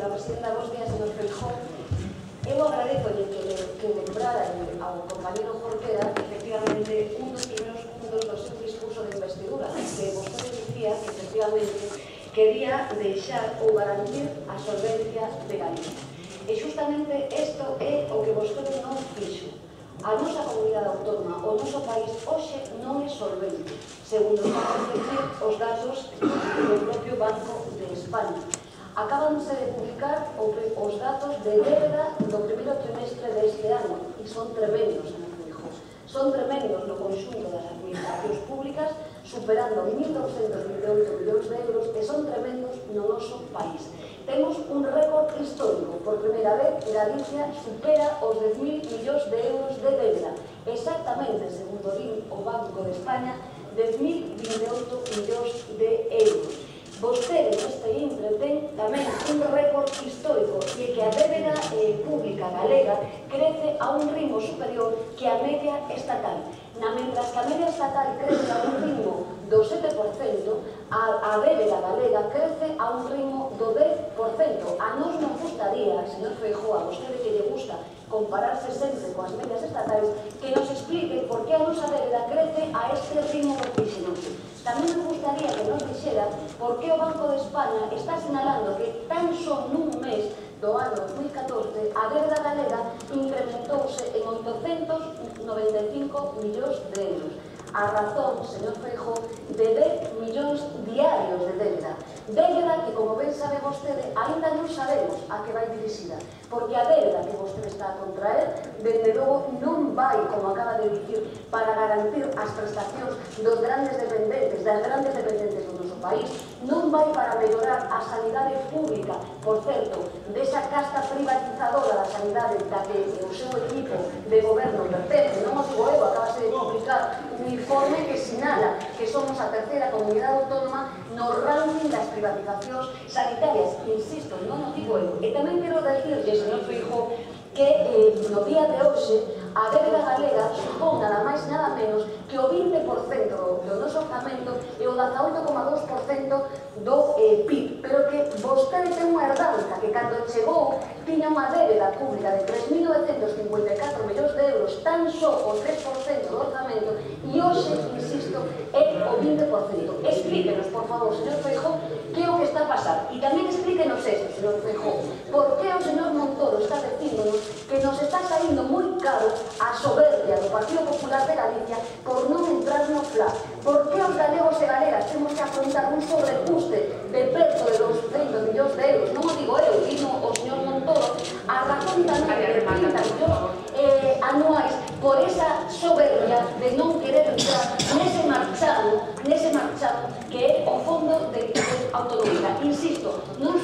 señora presidenta, bons días, señor Feijóo. Eu agradezo que lembrara ao compañero Jorquera, efectivamente, un dos primeiros puntos do seu discurso de investidura, que vostede dicía que, efectivamente, quería deixar ou garantir a solvencia de Galicia. E justamente isto é o que vostede non fixo. A nosa comunidade autónoma, o noso país, hoxe non é solvente, segundo van a decir os datos do propio Banco de España. Acabanse de publicar os datos de débeda do primeiro trimestre deste ano e son tremendos, señor Feijóo. Son tremendos no conxunto das administracións públicas, superando 1.228 millóns de euros, e son tremendos no noso país. Temos un récord histórico. Por primeira vez, Galicia supera os 10.000 millóns de euros de débeda. Exactamente, segundo o Banco de España, 10.028 millóns de euros. Vostede neste intre ten tamén un récord histórico, e que a débeda pública galega crece a un ritmo superior que a media estatal. Mentras que a media estatal crece a un ritmo do 7%, a débeda galega crece a un ritmo do 10%. A nos non gustaría, señor Feijóo, a vostede que lle gusta compararse sempre coas medias estatais, que nos explique por que a nosa débeda crece a este ritmo vertiginoso. Tamén nos gustaría que nos dixera por que o Banco de España está sinalando que tan só nun mes do ano 2014 a débeda galega incrementouse en 895 millóns de euros. A razón, señor Feijóo, de 10 millóns diarios de débeda. Débeda que, como ben sabe vostede, ainda non sabemos a que vai dirixida, porque a débeda que vostede está a contraer, dende logo, non vai, como acaba de dicir, para garantir as prestacións dos grandes dependentes, das grandes dependentes do noso país, non vai para mellorar a sanidade pública, por certo, desa casta privatizadora da sanidade da que o seu equipo de goberno pertence. Non o digo eu, acabase de publicar un informe que sinala que somos a terceira comunidade autónoma no ranking das privatizacións sanitarias. Insisto, non o digo eu. E tamén quero decirle, señor Feijóo, que no día de hoxe a débeda galega supón nada máis nada menos que o 20% do noso orzamento e o 18,2% do PIB, pero que vostede ten unha herdanza que cando chegou tiña unha débeda pública de 3.954 millóns de euros, tan só o 3% do orzamento, e hoxe, insisto, é o 20%. Explíquenos, por favor, señor Feijóo, que é o que está a pasar. E tamén explíquenos isto, señor Feijóo, por que o señor Montoro está dicíndonos que nos está saindo moi caro a soberbia do Partido Popular de Galicia por non entrar no FLA. Por que os galegos e galegas temos que afrontar un sobrecuste de preto de 200 millóns de euros? Non o digo eu, dino o señor Montoro, a razón tamén de 30 millóns anuais por esa soberbia de non querer entrar nese marchado que é o Fondo de Autonomía. Insisto, non